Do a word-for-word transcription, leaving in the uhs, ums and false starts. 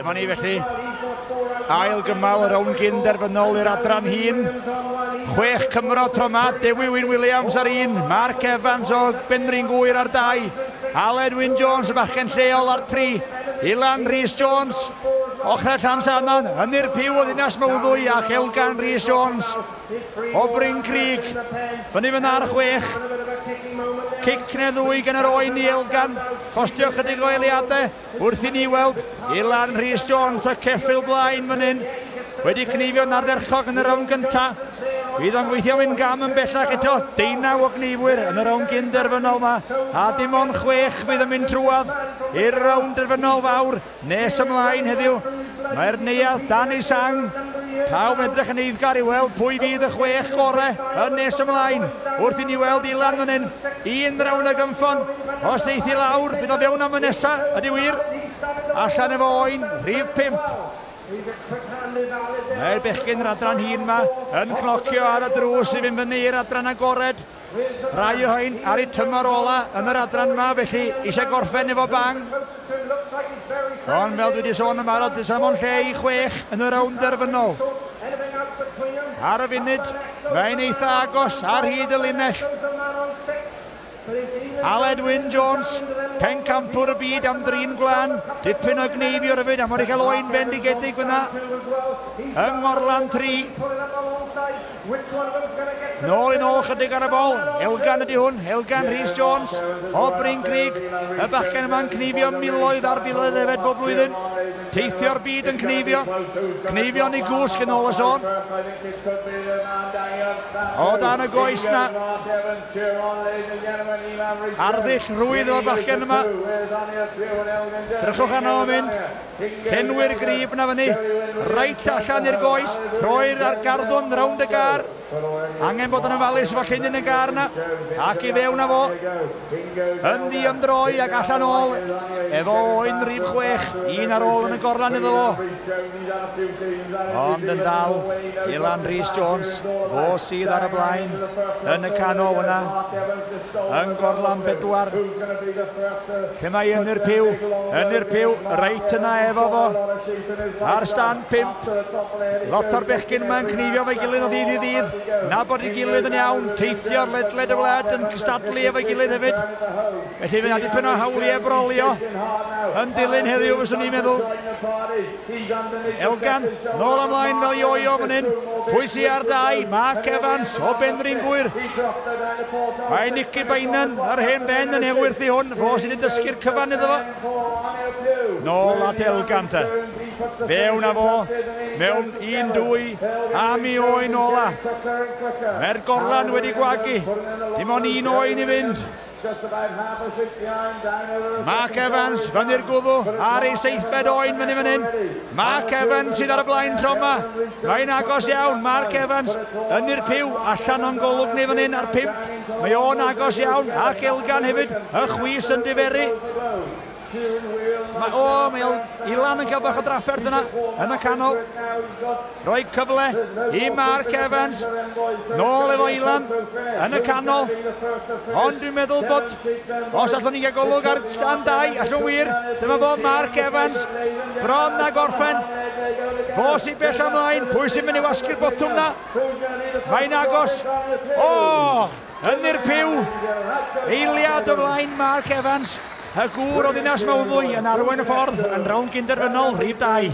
Dyma ni felly, ail gymal y rownd gyn derfynol i'r adran hŷn. Chwech Cymro tro 'ma, Dewi Wyn Williams ar un, Mark Evans o Benrhyn Gŵyr ar dau, Aled Wyn Jones y bachgen lleol ar tri, Ilan Rhys Jones, ochrau Llansannan, Ynyr Pugh o Ddinas Mawddwy ac Elgan Rhys Jones o Bryn Crug. Fyny fyna ar chwech. Cic neu ddwy gan yr oen i Elgan, costio chydig o eiliadau wrth i ni weld Ilan Rhys Jones y ceffyl blaen fan hyn, wedi cneifio'n ardderchog yn y rownd gyntaf. Fydd o'n gweithio mynd gam yn bellach eto, deunaw o gneifwyr yn y rownd gyn derfynol yma, a dim ond chwech fydd yn mynd trwadd i'r rownd derfynol fawr nes ymlaen heddiw. Mae'r neuadd dan ei sang, pawb yn edrych yn eiddgar i weld pwy fydd y chwech gorau yn nes ymlaen. Wrth i ni weld Ilan fan hyn, un rownd o gynffon, os eith i lawr, bydd o fewn am y nesa, ydy wir, allan efo oen, rhif pump. Mae'r bechgyn yr adran hŷn yma yn cnocio ar y drws i fynd fyny i'r adran agored. Rai o hein ar eu tymor ola yn yr adran yma, felly eisiau gorffen efo bang. Ond fel dwi wedi sôn yn barod, does dim ond lle i chwech yn y rownd derfynol. Ar y funud, mae'n eitha agos ar hyd y linell. Aled Wyn Jones, pencampwr y byd am drin gwlan, dipyn o gneifiwr hefyd, a wedi cael oen bendigedig fyna yng Ngorlan tri. Nôl i nôl chydig ar y bol, Elgan ydy hwn, Elgan Rhys Jones o Bryn Crug, y bachgen yma'n cneifio miloedd ar filoedd hefyd bob blwyddyn, teithio'r byd yn cneifio, cneifio'n ei gwsg yn ôl y sôn. O dan y goes na, arddull rwydd o'r bachgen yma. Drychwch arno o'n mynd, llenwi'r grib na fyny, reit allan i'r goes, troi'r ar garddwn rownd y gar. Angen bod yn ofalus efo llinyn y gar na, ac i fewn â fo, yn ddi-ymdroi ac allan ôl, efo oen rhif chwech, un ar ôl yn y gorlan iddo fo. Ond yn dal, Ilan Rhys Jones, fo sydd ar y blaen, yn y canol yna, yn gorlan bedwar. Lle mae Ynyr Pugh, Ynyr Pugh, reit yna efo fo, ar stan pump. Lot o'r bechgyn yma'n cneifio efo'i gilydd o ddydd i ddydd, nabod ei gilydd yn iawn, teithio ledled y wlad yn cystadlu efo'i gilydd hefyd. Felly fydd yna dipyn o hawliau brolio yn dilyn heddiw, fyswn i'n meddwl. Elgan, nôl ymlaen fel ioio fan hyn. Pwy sy ar dau? Mark Evans o Benrhyn Gŵyr. Mae Nicky Bainan, yr hen ben yn ewyrth i hwn, fo sydd wedi dysgu'r cyfan iddo fo. Nôl at Elgan te. Fewn â fo, mewn un, dwy, am i oen ola. Mae'r gorlan wedi gwagu, dim ond un oen i fynd. Mark Evans fyny'r gwddw ar ei seithfed oen fyny fan hyn. Mark Evans sydd ar y blaen tro yma. Mae'n agos iawn, Mark Evans yn i'r Pugh, allan o'n golwg ni fan hyn ar pump. Mae o'n agos iawn, ac Elgan hefyd, y chwys yn diferu. Mae, o, mae Ilan yn cael bach o drafferth yna, yn y canol. Rhoi cyfle i Mark Evans. Nôl efo Ilan, yn y canol. Ond dwi'n meddwl bod, os allwn ni gael golwg ar stand dau, allwn wir, dyma fo Mark Evans, bron a gorffen. Fo sy'n bell ymlaen, pwy sy'n mynd i wasgu'r botwm na? Mae'n agos. O, yn i'r Pugh. Eiliad o flaen Mark Evans. Y gŵr o Ddinas Mawddwy yn arwain y ffordd yn rownd gynderfynol rhif dau.